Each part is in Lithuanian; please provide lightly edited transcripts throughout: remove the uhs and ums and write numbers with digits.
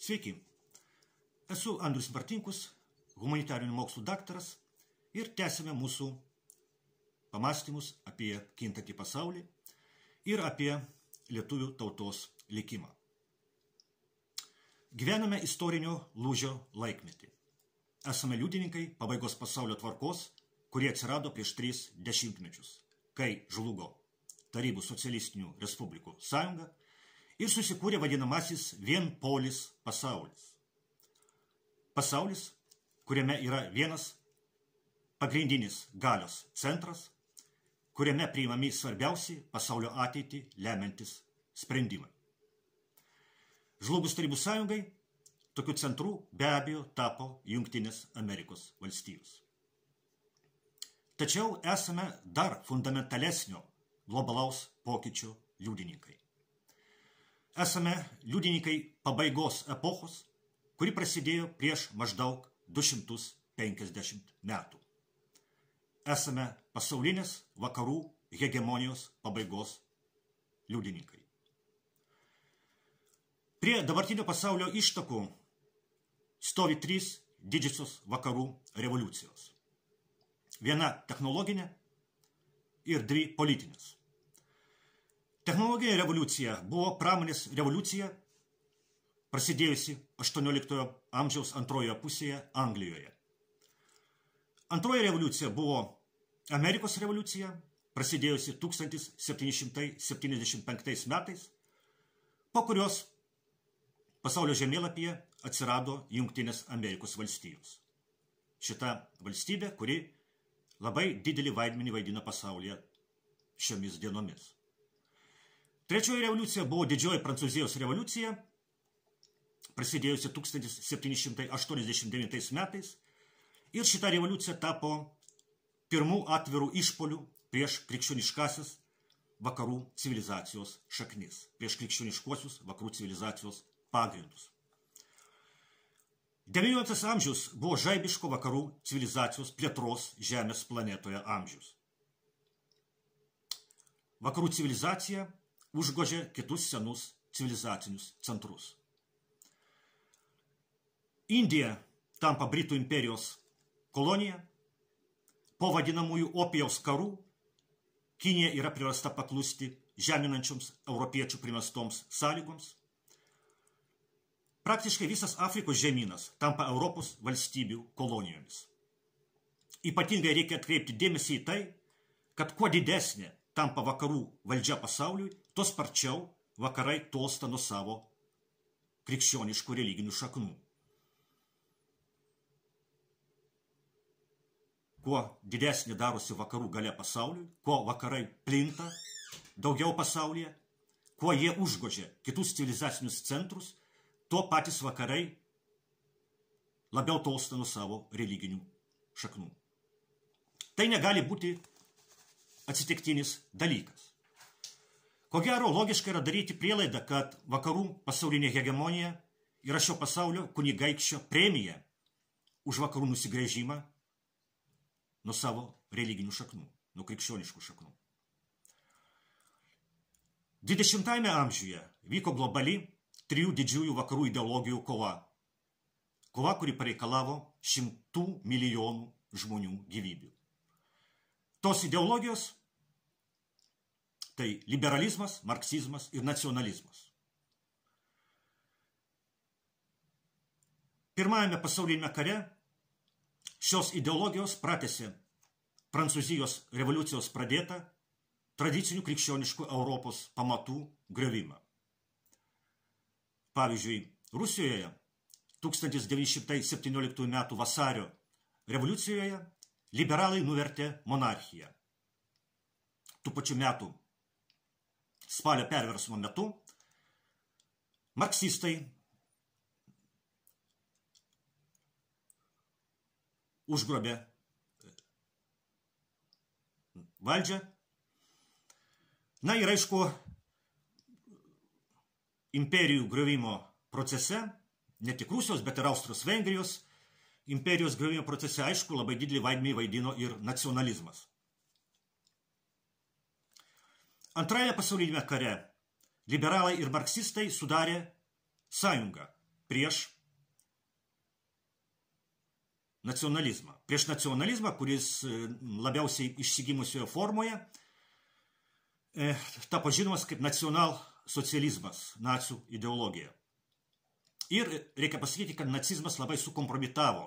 Sveiki, esu Andrius Martinkus, humanitarinių mokslų daktaras ir tęsime mūsų pamąstymus apie kintantį pasaulį ir apie lietuvių tautos likimą. Gyvename istorinio lūžio laikmetį. Esame liudininkai pabaigos pasaulio tvarkos, kurie atsirado prieš 3 dešimtmečius, kai žlugo Tarybų socialistinių respublikų sąjunga ir susikūrė vadinamasis vienpolis pasaulis. Pasaulis, kuriame yra vienas pagrindinis galios centras, kuriame priimami svarbiausi pasaulio ateitį lemiantis sprendimai. Žlugus Tarybų sąjungai, tokiu centru be abejo tapo Jungtinės Amerikos valstijos. Tačiau esame dar fundamentalesnio globalaus pokyčio liudininkai. Esame liudininkai pabaigos epochos, kuri prasidėjo prieš maždaug 250 metų. Esame pasaulinės vakarų hegemonijos pabaigos liudininkai. Prie dabartinio pasaulio ištakų stovi 3 didžiosios vakarų revoliucijos. Viena technologinė ir 2 politinės. Technologinė revoliucija buvo pramonės revoliucija, prasidėjusi 18 amžiaus antrojoje pusėje Anglijoje. Antroji revoliucija buvo Amerikos revoliucija, prasidėjusi 1775 metais, po kurios pasaulio žemėlapyje atsirado Jungtinės Amerikos valstijos. Šita valstybė, kuri labai didelį vaidmenį vaidina pasaulyje šiomis dienomis. Trečioji revoliucija buvo didžioji Prancūzijos revoliucija, prasidėjusi 1789 metais, ir šita revoliucija tapo pirmų atvirų išpolių prieš krikščioniškasias vakarų civilizacijos šaknis, prieš krikščioniškuosius vakarų civilizacijos pagrindus. XIX amžius buvo žaibiško vakarų civilizacijos plėtros Žemės planetoje amžius. Vakarų civilizacija užgožė kitus senus civilizacinius centrus. Indija tampa Britų imperijos kolonija, po vadinamųjų opijaus karų Kinija yra priversta paklusti žeminančioms europiečių primestoms sąlygoms. Praktiškai visas Afrikos žemynas tampa Europos valstybių kolonijomis. Ypatingai reikia atkreipti dėmesį į tai, kad kuo didesnė tampa vakarų valdžia pasauliui, tuo sparčiau vakarai tolsta nuo savo krikščioniškų religinių šaknų. Kuo didesnė darosi vakarų galia pasauliui, kuo vakarai plinta daugiau pasaulyje, kuo jie užgožia kitus civilizacinius centrus, tuo patys vakarai labiau tolsta nuo savo religinių šaknų. Tai negali būti atsitiktinis dalykas. Ko gero, logiška yra daryti prielaidą, kad vakarų pasaulinė hegemonija yra šio pasaulio kunigaikščio premija už vakarų nusigręžimą nuo savo religinių šaknų, nuo krikščioniškų šaknų. 20 amžiuje vyko globali 3 didžiųjų vakarų ideologijų kova. Kova, kuri pareikalavo 100 milijonų žmonių gyvybių. Tos ideologijos tai liberalizmas, marksizmas ir nacionalizmas. Pirmajame pasaulinėme kare šios ideologijos pratęsė Prancūzijos revoliucijos pradėtą tradicinių krikščioniškų Europos pamatų griovimą. Pavyzdžiui, Rusijoje 1917 m. vasario revoliucijoje liberalai nuvertė monarchiją. Tų pačių metų spalio perversmo metu marksistai užgrobė valdžią. Na ir aišku, imperijų griovimo procese, ne tik Rusijos, bet ir Austrijos Vengrijos imperijos griovimo procese, aišku, labai didelį vaidmenį vaidino ir nacionalizmas. Antrajame pasaulinėme kare liberalai ir marksistai sudarė sąjungą prieš nacionalizmą. Prieš nacionalizmą, kuris labiausiai išsigimusioje formoje tapo žinomas kaip nacionalsocializmas, nacių ideologija. Ir reikia pasakyti, kad nacizmas labai sukompromitavo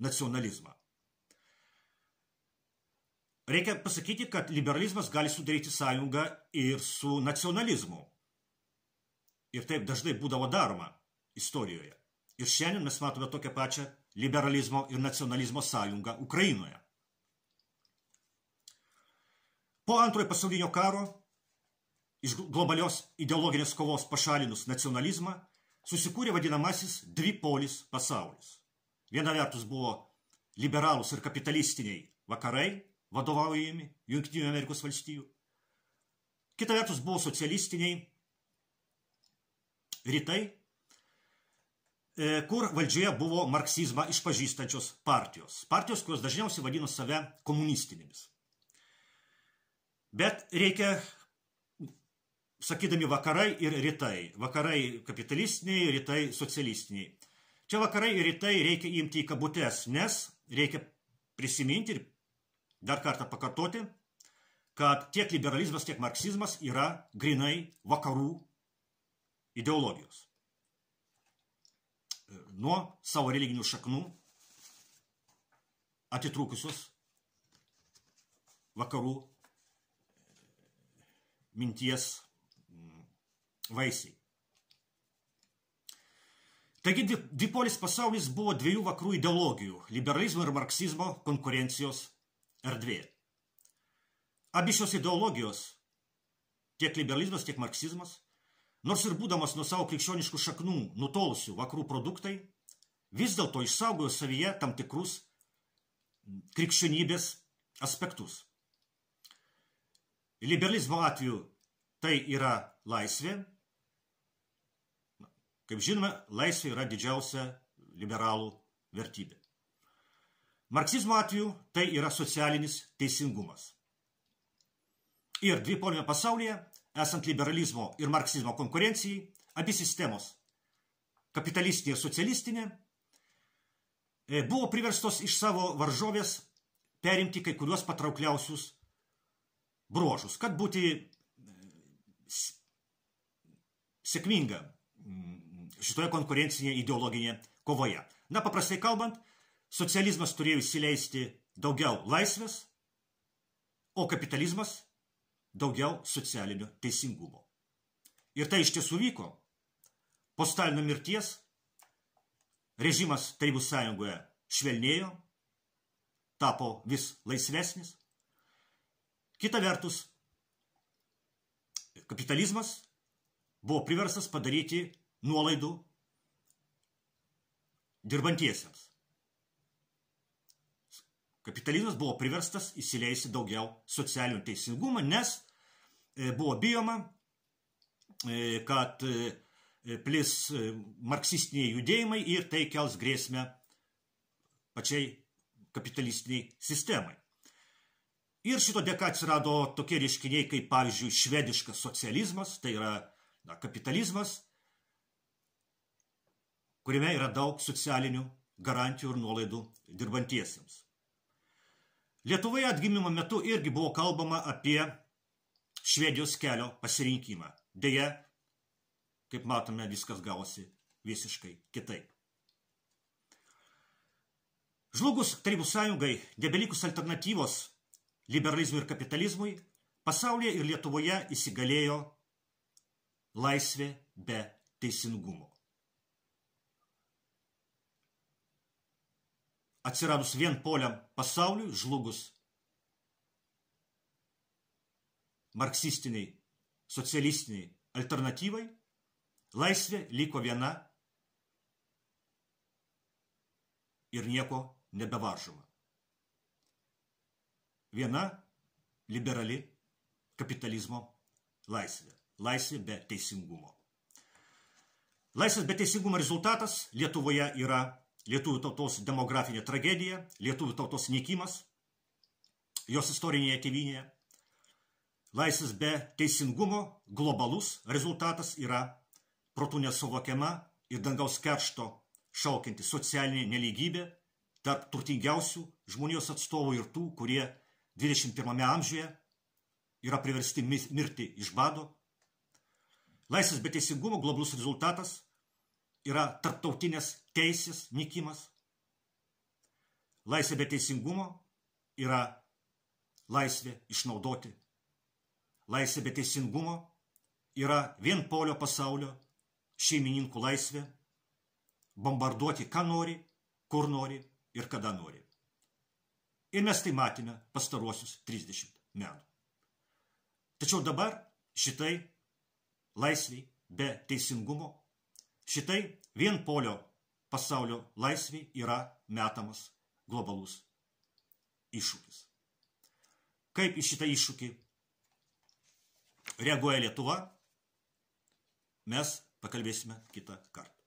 nacionalizmą. Reikia pasakyti, kad liberalizmas gali sudaryti sąjungą ir su nacionalizmu. Ir taip dažnai būdavo daroma istorijoje. Ir šiandien mes matome tokią pačią liberalizmo ir nacionalizmo sąjungą Ukrainoje. Po antrojo pasaulinio karo iš globalios ideologinės kovos pašalinus nacionalizmą susikūrė vadinamasis dvipolis pasaulis. Viena vertus buvo liberalūs ir kapitalistiniai vakarai, vadovaujami Jungtinių Amerikos valstijų. Kita vertus buvo socialistiniai rytai, kur valdžioje buvo marksizmą išpažįstančios partijos. Partijos, kurios dažniausiai vadino save komunistinėmis. Bet reikia, sakydami vakarai ir rytai. Vakarai kapitalistiniai, rytai socialistiniai. Čia vakarai ir rytai reikia imti į kabutes, nes reikia prisiminti ir dar kartą pakartoti, kad tiek liberalizmas, tiek marksizmas yra grinai vakarų ideologijos. Nuo savo religinių šaknų atitrūkusios vakarų minties vaisiai. Taigi dvipolis pasaulis buvo dviejų vakarų ideologijų – liberalizmo ir marksizmo konkurencijos erdvė. Abi šios ideologijos, tiek liberalizmas, tiek marksizmas, nors ir būdamas nuo savo krikščioniškų šaknų nutolusių vakarų produktai, vis dėlto išsaugojo savyje tam tikrus krikščionybės aspektus. Liberalizmo atveju tai yra laisvė. Kaip žinome, laisvė yra didžiausia liberalų vertybė. Marksizmo atveju tai yra socialinis teisingumas. Ir dvipolime pasaulyje, esant liberalizmo ir marksizmo konkurencijai, abi sistemos, kapitalistinė ir socialistinė, buvo priverstos iš savo varžovės perimti kai kuriuos patraukliausius bruožus, kad būti sėkminga šitoje konkurencinėje ideologinėje kovoje. Na, paprastai kalbant, socializmas turėjo įsileisti daugiau laisvės, o kapitalizmas daugiau socialinio teisingumo. Ir tai iš tiesų vyko. Po Stalino mirties režimas Tarybų Sąjungoje švelnėjo, tapo vis laisvesnis. Kita vertus, kapitalizmas buvo priverstas padaryti nuolaidų dirbantiesiems. Kapitalizmas buvo priverstas įsileisti daugiau socialinio teisingumo, nes buvo bijoma, kad plis marksistiniai judėjimai ir tai kels grėsmę pačiai kapitalistiniai sistemai. Ir šito dėka atsirado tokie reiškiniai, kaip pavyzdžiui švediškas socializmas, tai yra kapitalizmas, kuriame yra daug socialinių garantijų ir nuolaidų dirbantiesiems. Lietuvoje atgimimo metu irgi buvo kalbama apie Švedijos kelio pasirinkimą. Deja, kaip matome, viskas gavosi visiškai kitaip. Žlugus Tarybų Sąjungai, nebelikus alternatyvos liberalizmui ir kapitalizmui, pasaulyje ir Lietuvoje įsigalėjo laisvė be teisingumo. Atsiradus vienpoliam pasauliui, žlugus marksistiniai, socialistiniai alternatyvai, laisvė liko viena ir nieko nebevaržoma. Viena liberali kapitalizmo laisvė. Laisvė be teisingumo. Laisvės be teisingumo rezultatas Lietuvoje yra lietuvių tautos demografinė tragedija, lietuvių tautos nykimas, jos istorinėje tėvynėje. Laisvės be teisingumo globalus rezultatas yra protu nesuvokiama ir dangaus keršto šaukianti socialinė nelygybė tarp turtingiausių žmonijos atstovų ir tų, kurie 21 amžiuje yra priversti mirti iš bado. Laisvės be teisingumo globalus rezultatas yra tarptautinės teisės nykimas. Laisvė be teisingumo yra laisvė išnaudoti. Laisvė be teisingumo yra vienpolio pasaulio šeimininkų laisvė bombarduoti, ką nori, kur nori ir kada nori. Ir mes tai matėme pastaruosius 30 metų. Tačiau dabar šitai laisviai be teisingumo, šitai vienpolio pasaulio laisviai yra metamas globalus iššūkis. Kaip į šitą iššūkį reaguoja Lietuva, mes pakalbėsime kitą kartą.